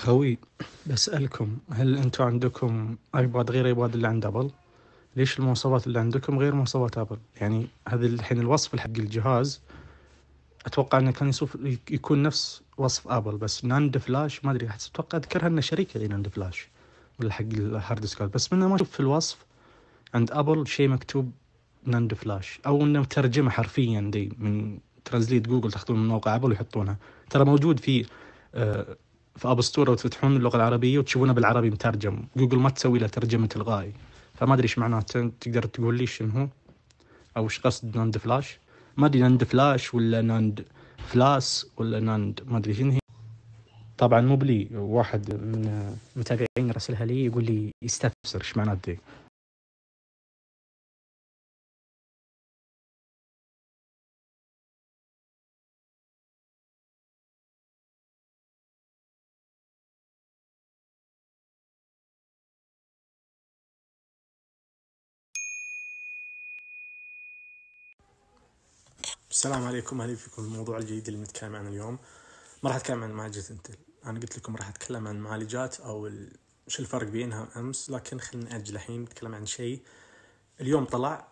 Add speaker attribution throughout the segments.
Speaker 1: خوي، بسألكم هل أنتم عندكم ايباد غير ايباد اللي عند ابل؟ ليش المواصفات اللي عندكم غير مواصفات ابل؟ يعني هذا الحين الوصف حق الجهاز اتوقع انه كان يكون نفس وصف ابل، بس ناند فلاش ما ادري، اتوقع اذكرها انه شركه ناند فلاش ولا حق الهارد ديسكات، بس منه ما اشوف في الوصف عند ابل شيء مكتوب ناند فلاش، او انه ترجمه حرفيا دي من ترانزليت جوجل، تاخذون من موقع ابل ويحطونها. ترى موجود في اب ستور، وتفتحون اللغه العربيه وتشوفونه بالعربي مترجم. جوجل ما تسوي له ترجمه تلقائي، فما ادري ايش معناته. تقدر تقول لي شنو هو او ايش قصد ناند فلاش؟ ما ادري ناند فلاش ولا ناند فلاس ولا ناند ما ادري شنو هي. طبعا مو بلي، واحد من متابعين رسلها لي يقول لي يستفسر ايش معناته دي.
Speaker 2: السلام عليكم، اهلا فيكم. الموضوع الجديد اللي بنتكلم عنه اليوم ما راح اتكلم عن معالجة انتل. انا قلت لكم راح اتكلم عن المعالجات او شو الفرق بينها امس، لكن خلينا نأجل الحين. نتكلم عن شيء اليوم طلع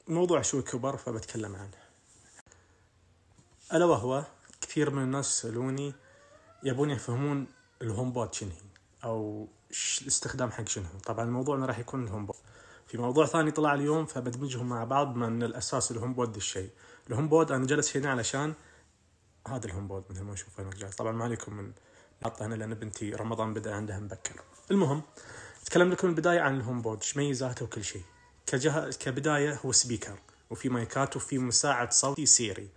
Speaker 2: وموضوع شوي كبر فبتكلم عنه، الا وهو كثير من الناس يسألوني يبون يفهمون الهوم بود شنو هي او الاستخدام حق شنو. طبعا موضوعنا راح يكون الهوم بود. في موضوع ثاني طلع اليوم فبدمجهم مع بعض، بما ان الاساس الهوم بود الشيء. الهوم بود انا جلس هنا علشان هذا الهوم بود مثل ما نشوف هنا جالس. طبعا ما عليكم من نحطه هنا لان بنتي رمضان بدا عندها مبكر. المهم اتكلم لكم البدايه عن الهوم بود، ايش ميزاته وكل شيء. كبدايه هو سبيكر وفي مايكات وفي مساعد صوتي سيري.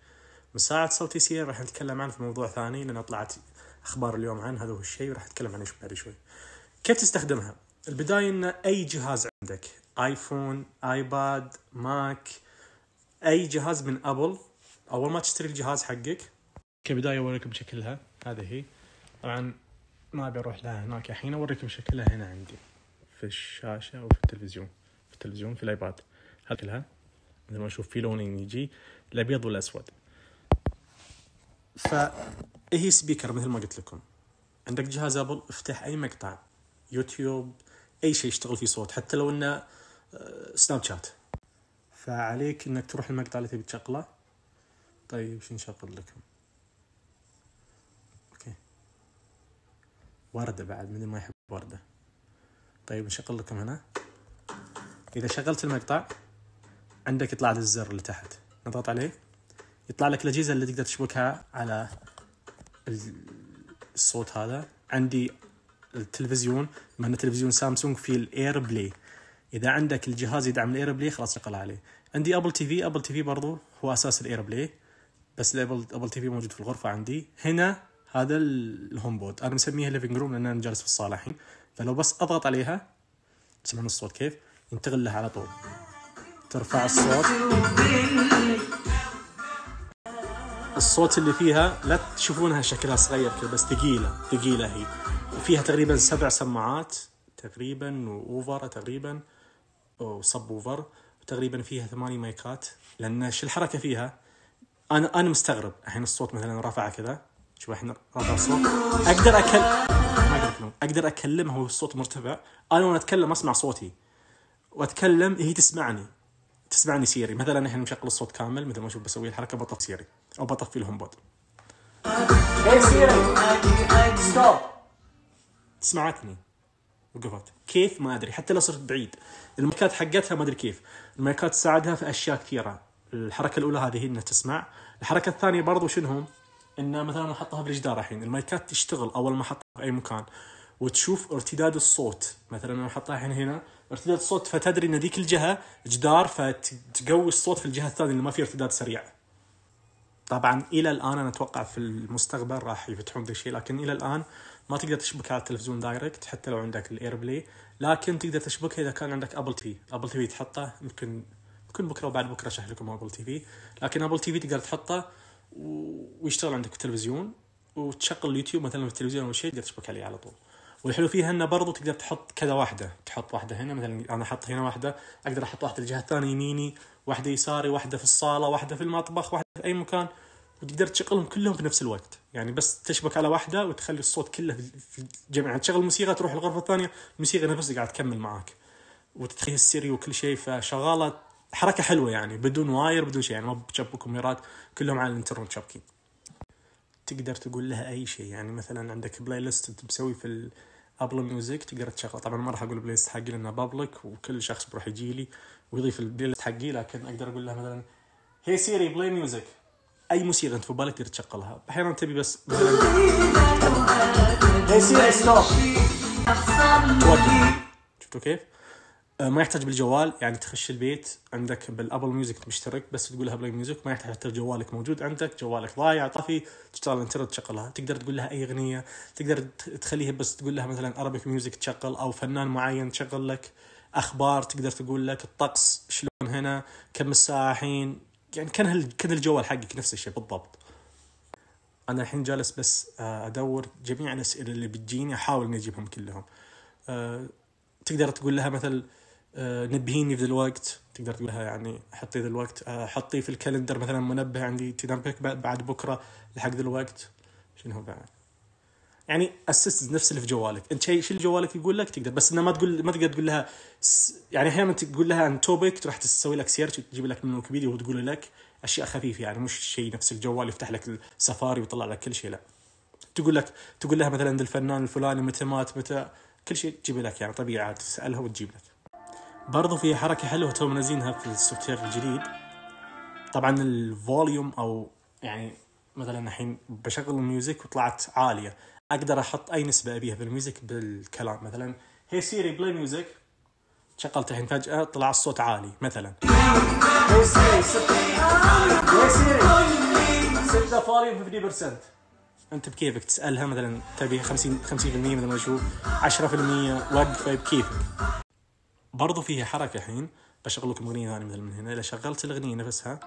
Speaker 2: مساعد صوتي سيري راح نتكلم عنه في موضوع ثاني لان طلعت اخبار اليوم عن هذا هو الشيء، وراح اتكلم عنه بعد شوي. كيف تستخدمها؟ البدايه ان اي جهاز عندك، ايفون، ايباد، ماك، اي جهاز من ابل، اول ما تشتري الجهاز حقك كبدايه اوريكم شكلها. هذه هي. طبعا ما ابي اروح لها هناك الحين، اوريكم شكلها هنا عندي في الشاشه وفي التلفزيون. في الايباد شكلها مثل ما نشوف في لونين يجي، الابيض والاسود. فهي سبيكر مثل ما قلت لكم. عندك جهاز ابل، افتح اي مقطع يوتيوب، اي شيء يشتغل فيه صوت، حتى لو انه سناب شات، فعليك انك تروح المقطع اللي تبي تشغله. طيب شو نشغل لكم؟ اوكي، وردة بعد، من ما يحب وردة. طيب نشغل لكم هنا. اذا شغلت المقطع عندك يطلع لك الزر اللي تحت، نضغط عليه يطلع لك الاجهزة اللي تقدر تشبكها على الصوت. هذا عندي التلفزيون، مع ان تلفزيون سامسونج في الاير بلاي. اذا عندك الجهاز يدعم الاير بلاي خلاص شغل عليه. عندي ابل تي في برضو هو اساس الاير بلاي، بس الابل تي في موجود في الغرفه عندي هنا. هذا الهوم بود انا مسميها ليفينج روم لان انا جالس في الصاله الحين. فلو بس اضغط عليها تسمعون الصوت كيف ينتقل لها على طول. ترفع الصوت اللي فيها، لا تشوفونها شكلها صغير كذا بس ثقيله هي. وفيها تقريبا 7 سماعات تقريبا، واوفر تقريبا وصب اوفر، وتقريبا فيها 8 مايكات. لان شو الحركه فيها، انا مستغرب الحين الصوت مثلا رافعه كذا، شوف الحين رافع الصوت، اقدر اكلمها والصوت مرتفع. انا وانا اتكلم اسمع صوتي واتكلم، هي تسمعني سيري. مثلا الحين مشغل الصوت كامل مثل ما اشوف بسوي الحركه، بطفي سيري او بطفي الهوم بود. اي سيري ستوب، سمعتني وقفت. كيف ما ادري، حتى لو صرت بعيد. المايكات حقتها ما ادري كيف. المايكات تساعدها في اشياء كثيره. الحركه الاولى هذه هي انها تسمع. الحركه الثانيه برضو شنهم، ان مثلا احطها بالجدار الحين المايكات تشتغل اول ما احطها في اي مكان، وتشوف ارتداد الصوت. مثلا انا احطها هنا ارتداد الصوت، فتدري ان ذيك الجهه جدار، فتقوي الصوت في الجهه الثانيه اللي ما فيه ارتداد سريع. طبعا الى الان انا اتوقع في المستقبل راح يفتحون ذا الشيء، لكن الى الان ما تقدر تشبكها على التلفزيون دايركت حتى لو عندك الاير بلاي، لكن تقدر تشبكها اذا كان عندك ابل تي في تحطه. يمكن بكره وبعد بكره اشرح لكم ابل تي في. لكن ابل تي في تقدر تحطه ويشتغل عندك في التلفزيون، وتشغل اليوتيوب مثلا في التلفزيون او شيء تقدر تشبك عليه على طول. والحلو فيها انه برضو تقدر تحط كذا واحده، تحط واحده هنا مثلا انا احط هنا واحده، اقدر احط واحده الجهه الثانيه يميني، واحده يساري، واحده في الصاله، واحده في المطبخ، واحده في اي مكان، وتقدر تشغلهم كلهم في نفس الوقت. يعني بس تشبك على واحدة وتخلي الصوت كله في الجميع. يعني تشغل الموسيقى تروح الغرفة الثانية الموسيقى نفسها قاعد تكمل معاك وتتخيل السيري وكل شيء. فشغالة حركة حلوة يعني بدون واير بدون شيء، يعني ما بتشبكوا كاميرات، كلهم على الانترنت شابكين. تقدر تقول لها أي شيء. يعني مثلا عندك بلاي ليست أنت بسوي في الأبل ميوزك تقدر تشغل. طبعا ما راح أقول بلاي ليست حقي لأنها بابليك وكل شخص بروح يجي لي ويضيف البلاي ليست حقي، لكن أقدر أقول لها مثلا هي سيري بلاي ميوزك، أي موسيقى أنت في بالك تقدر تشغلها. أحيانا تبي بس مثلا هي سيري ستوب، شفتوا كيف؟ ما يحتاج بالجوال، يعني تخش البيت عندك بالابل ميوزك مشترك بس تقول لها بلاي ميوزك، ما يحتاج حتى جوالك موجود عندك، جوالك ضايع طفي تشتغل الانترنت تشغلها. تقدر تقول لها اي اغنيه، تقدر تخليها بس تقول لها مثلا ارابيك ميوزك تشغل او فنان معين تشغل لك، اخبار تقدر تقول لك الطقس شلون هنا كم الساعه الحين، يعني كان الجوال حقك نفس الشيء بالضبط. انا الحين جالس بس ادور جميع الاسئله اللي بتجيني احاول اني اجيبهم كلهم. تقدر تقول لها مثل نبهيني في ذا الوقت، تقدر تقول لها يعني حطي ذا الوقت، حطي في الكالندر مثلا منبه عندي تنبهك بعد بكره لحق ذا الوقت. شنو هو بعد يعني اسست نفس اللي في جوالك انت، شيء جوالك يقول لك تقدر، بس انه ما تقدر تقول لها يعني احيانا تقول لها عن توبيك تروح تسوي لك سيرش وتجيب لك من ويكيبيديا وتقول لك اشياء خفيفه، يعني مش شيء نفس الجوال يفتح لك السفاري ويطلع لك كل شيء، لا تقول لها مثلا الفنان الفلاني متى مات متى كل شيء تجيب لك، يعني طبيعي تسالها وتجيب لك. برضو في حركة حلوة تو منزينها في السوفت وير الجديد. طبعا الفوليوم او يعني مثلا الحين بشغل الميوزك وطلعت عالية، اقدر احط اي نسبة ابيها بالميوزك بالكلام. مثلا هي سيري بلاي ميوزك، شغلت الحين فجأة طلع الصوت عالي مثلا هي سيري سد فوليوم 50%. انت بكيفك تسألها مثلا تبي 50% مثلا ما اشوف 10% وقفه بكيفك. برضو فيها حركة الحين بشغل لكم أغنية ثانية مثل من هنا. إذا شغلت الأغنية نفسها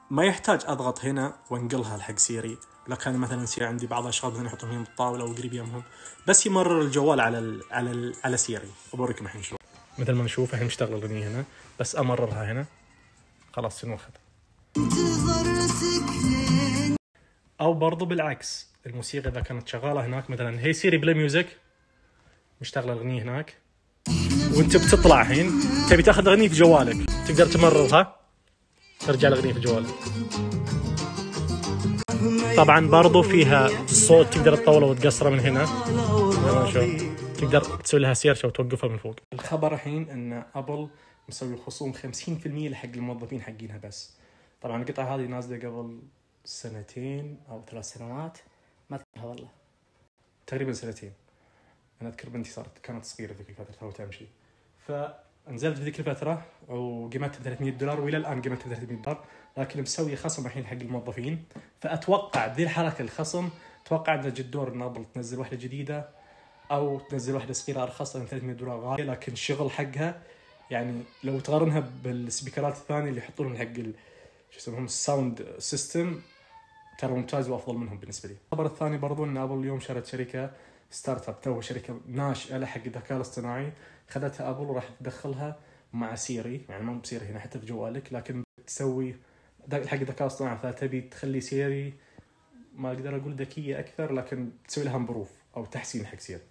Speaker 2: ما يحتاج أضغط هنا وانقلها لحق سيري، لكن مثلا سيري عندي بعض الأشخاص مثلا يحطهم هنا بالطاولة أو قريب يمهم، بس يمرر الجوال على سيري. وبوريكم الحين شلون. مثل ما نشوف الحين مشتغل الأغنية هنا، بس أمررها هنا خلاص تنوخذ. أو برضو بالعكس الموسيقى إذا كانت شغالة هناك مثلا هي سيري بلاي ميوزك، مشتغل الأغنية هناك وانت بتطلع الحين تبي تاخذ اغنيه في جوالك تقدر تمررها ترجع الاغنيه في جوالك. طبعا برضو فيها الصوت تقدر تطوله وتقصره من هنا، تقدر تسوي لها سيرش او توقفها من فوق. الخبر الحين ان ابل مسوي خصوم 50% لحق الموظفين حقينها بس. طبعا القطعه هذه نازله قبل 2 أو 3 سنوات، ما اذكرها والله، تقريبا 2 أنا أذكر بنتي كانت صغيرة ذيك الفترة تو تمشي، فنزلت في ذيك الفترة وقيمتها $300 وإلى الآن قيمتها $300، لكن مسوي خصم الحين حق الموظفين. فأتوقع ذي الحركة الخصم أتوقع أن جد دور إن أبل تنزل واحدة جديدة أو تنزل واحدة صغيرة أرخص لأن $300 غالية، لكن الشغل حقها يعني لو تقارنها بالسبيكرات الثانية اللي يحطونهم حق شو يسمونهم الساوند سيستم ترى ممتاز وأفضل منهم بالنسبة لي. الخبر الثاني برضو إن أبل اليوم شرت شركة ستارت اب، تو شركه ناشئه لحق الذكاء الاصطناعي، خذتها ابل وراح تدخلها مع سيري، يعني ما بصير هنا حتى في جوالك، لكن تسوي حق الذكاء الاصطناعي. فتبي تخلي سيري ما اقدر اقول ذكيه اكثر، لكن تسوي لها امبروف او تحسين حق سيري.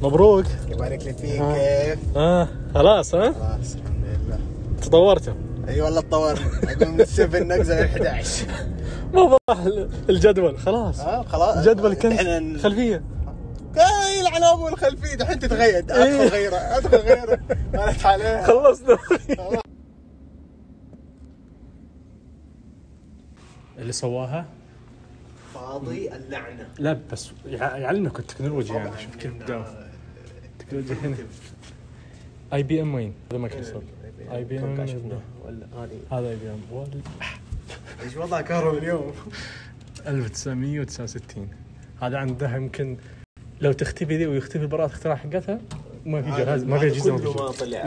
Speaker 2: مبروك
Speaker 3: يبارك لي فيك. كيف؟
Speaker 2: خلاص
Speaker 3: خلاص الحمد لله
Speaker 2: تطورتوا.
Speaker 3: اي والله تطورنا، اقوم من 7 نقزل 11.
Speaker 2: ما راح الجدول خلاص.
Speaker 3: خلاص
Speaker 2: الجدول كان خلفيه
Speaker 3: يلعن ابو الخلفيه دحين تتغير. ادخل غيره مالت عليه.
Speaker 2: خلصنا. اللي سواها
Speaker 3: فاضي اللعنه.
Speaker 2: لا بس يعلمك التكنولوجيا، يعني شوف كيف بدأوا التكنولوجيا هنا. IBM وين؟ هذا مايكروسوفت. IBM
Speaker 3: شفنا ولا
Speaker 2: هذا IBM
Speaker 3: ايش وضع كهرباء اليوم؟
Speaker 2: 1969. هذا عندها يمكن لو تختفي ذي ويختفي براءة اختراع حقتها ما في جهاز، ما في أجهزة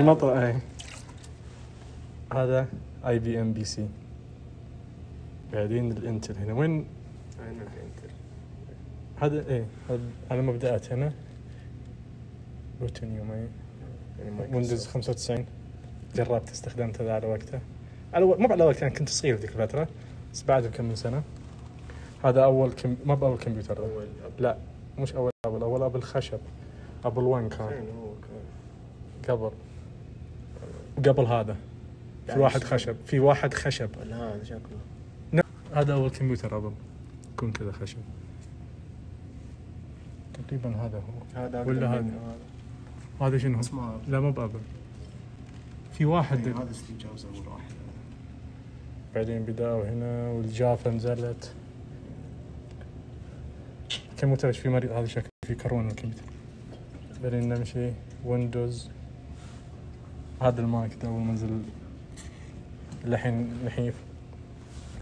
Speaker 2: ما طلع. هذا IBM PC. بعدين الانتل هنا وين
Speaker 3: الانتل؟
Speaker 2: هذا هذا على مبدأات هنا روتينيوم ويندوز 95. جربت استخدمت هذا على وقته، مو على وقته، يعني كنت صغير ذيك الفترة، بس بعد كم من سنة. هذا أول ما بأول كمبيوتر، لا مش أول أبل خشب، أبل 1 كان قبل هذا. في واحد خشب
Speaker 3: هذا شكله.
Speaker 2: هذا أول كمبيوتر أبل يكون كذا خشب تقريبا. هذا هو ولا هذا شنو؟ لا مو بأبل، في واحد
Speaker 3: هذا ستيف جوبز أول واحد.
Speaker 2: بعدين بدأوا هنا والجافة نزلت. كمبيوتر ايش في مريض هذا شكله في كورونا الكمبيوتر. بعدين نمشي ويندوز. هذا الماك ده أول منزل الحين نحيف.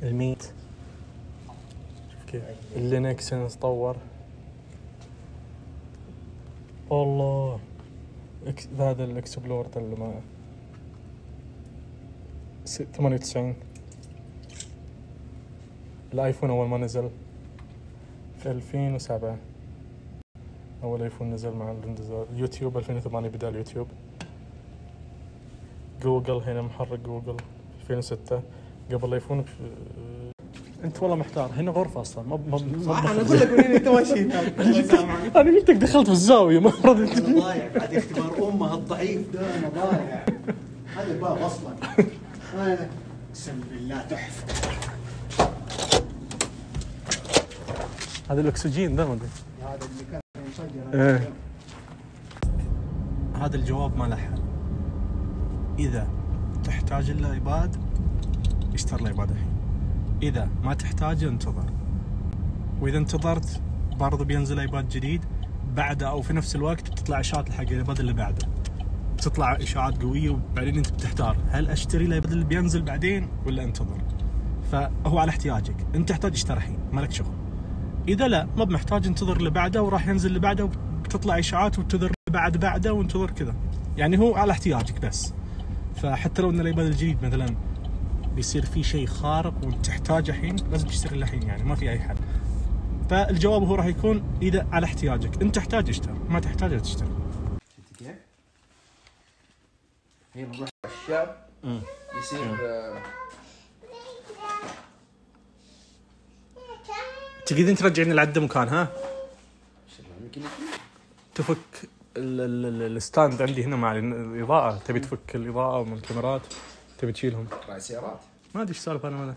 Speaker 2: الميت شوف كيف اللينكس تطور. والله هذا الاكسبلور اللي ما 98. الايفون اول ما نزل في 2007 اول ايفون نزل مع الانتظار. يوتيوب 2008 بدا اليوتيوب. جوجل هنا محرك جوجل 2006 قبل الايفون. انت والله محتار، هنا غرفه اصلا ما
Speaker 3: انا اقول لك وين انت ماشي. الله يسامحك،
Speaker 2: انا قلت لك دخلت في الزاويه ما رضيت.
Speaker 3: انا ضايع بعد اختبار امه الضعيف ده، انا ضايع. هذا الباب اصلا انا اقسم بالله تحفه.
Speaker 2: هذا الاكسجين ده ما ادري.
Speaker 3: هذا اللي كان مسجل.
Speaker 2: هذا الجواب ما له حل. اذا تحتاج الايباد اشتري الايباد الحين، اذا ما تحتاجه انتظر، واذا انتظرت برضه بينزل ايباد جديد بعده او في نفس الوقت بتطلع اشاعات حق الايباد اللي بعده، بتطلع اشاعات قويه وبعدين انت بتحتار هل اشتري الايباد اللي بينزل بعدين ولا انتظر. فهو على احتياجك، انت تحتاج اشتري الحين مالك شغل. اذا لا ما بمحتاج انتظر اللي بعده وراح ينزل اللي بعده وبتطلع اشاعات وانتظر بعده وانتظر كذا. يعني هو على احتياجك بس. فحتى لو ان الايباد الجديد مثلا بيصير فيه شيء خارق وانت تحتاجه الحين لازم تشتري الحين، يعني ما في اي حل. فالجواب هو راح يكون اذا على احتياجك، انت تحتاج اشتري، ما تحتاج لا تشتري.
Speaker 4: شفت كيف؟ هي نروح الشاب يصير
Speaker 2: تقدرين ترجعين العدة مكانها؟ تفك الستاند عندي هنا مع الإضاءة، تبي تفك الإضاءة من الكاميرات، تبي تشيلهم.
Speaker 4: راعي سيارات.
Speaker 2: ما أدري إيش سالفة أنا